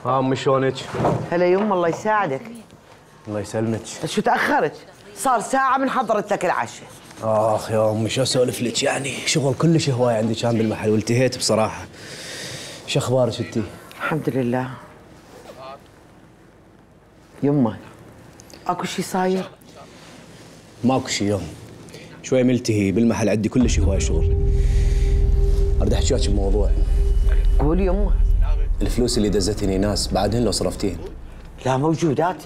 امي شلونك؟ هلا يما الله يساعدك. الله يسلمك. شو تاخرت؟ صار ساعة من حضرت لك العشاء. اخ يا امي شو اسولف لك يعني شغل كلش هواي عندي كان بالمحل والتهيت بصراحة. شو اخبارك انتي؟ الحمد لله. يما اكو شي صاير؟ ماكو شي يوم. شوي ملتهي بالمحل عندي كلش هواي شغل. اريد احكي وياك بموضوع. قول يما. الفلوس اللي دزتني ناس بعدهن لو صرفتين؟ لا موجودات.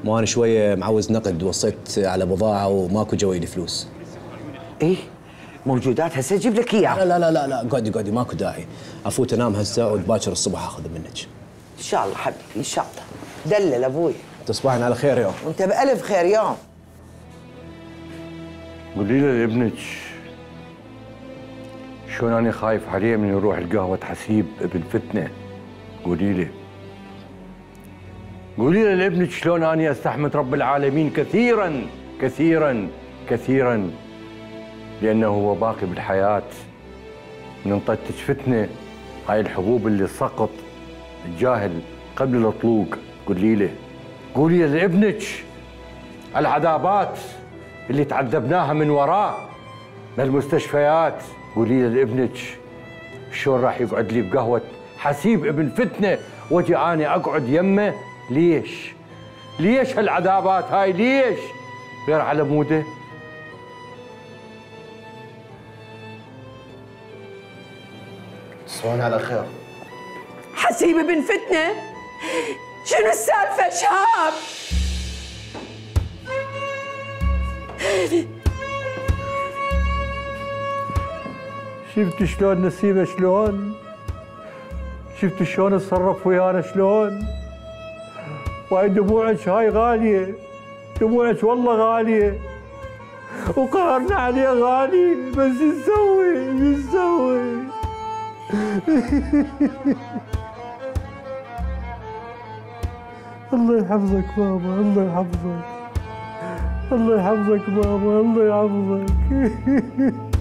مو انا شويه معوز نقد وصيت على بضاعه وماكو جوي فلوس. ايه موجودات هسه اجيب لك اياها. لا قعدي ماكو داعي. افوت انام هسه وباكر الصبح اخذ منك. ان شاء الله حبيبي ان شاء الله. دلل ابوي. تصبحين على خير يوم. وانت بألف خير يوم. قولي له لابنك شلون انا خايف عليه من يروح القهوه حسيب ابن فتنه. قولي له لابنك شلون اني استحمد رب العالمين كثيرا كثيرا كثيرا لانه هو باقي بالحياه. من انطتك فتنه هاي الحبوب اللي سقط الجاهل قبل الطلوق. قولي له لابنك العذابات اللي تعذبناها من وراه بالمستشفيات. قولي لابنك شلون راح يقعد لي بقهوه حسيب ابن فتنه واجي اني اقعد يمه. ليش هالعذابات هاي؟ ليش غير على موده؟ تصبحون على خير. حسيب ابن فتنه شنو السالفه شهاب؟ شفت شلون نسيبه شلون؟ شفت شلون تصرف ويانا شلون؟ وهاي دموعك هاي غالية، دموعك والله غالية وقهرنا عليه غالي، بس شو نسوي؟ الله يحفظك بابا، الله يحفظك، الله يحفظك بابا، الله يحفظك.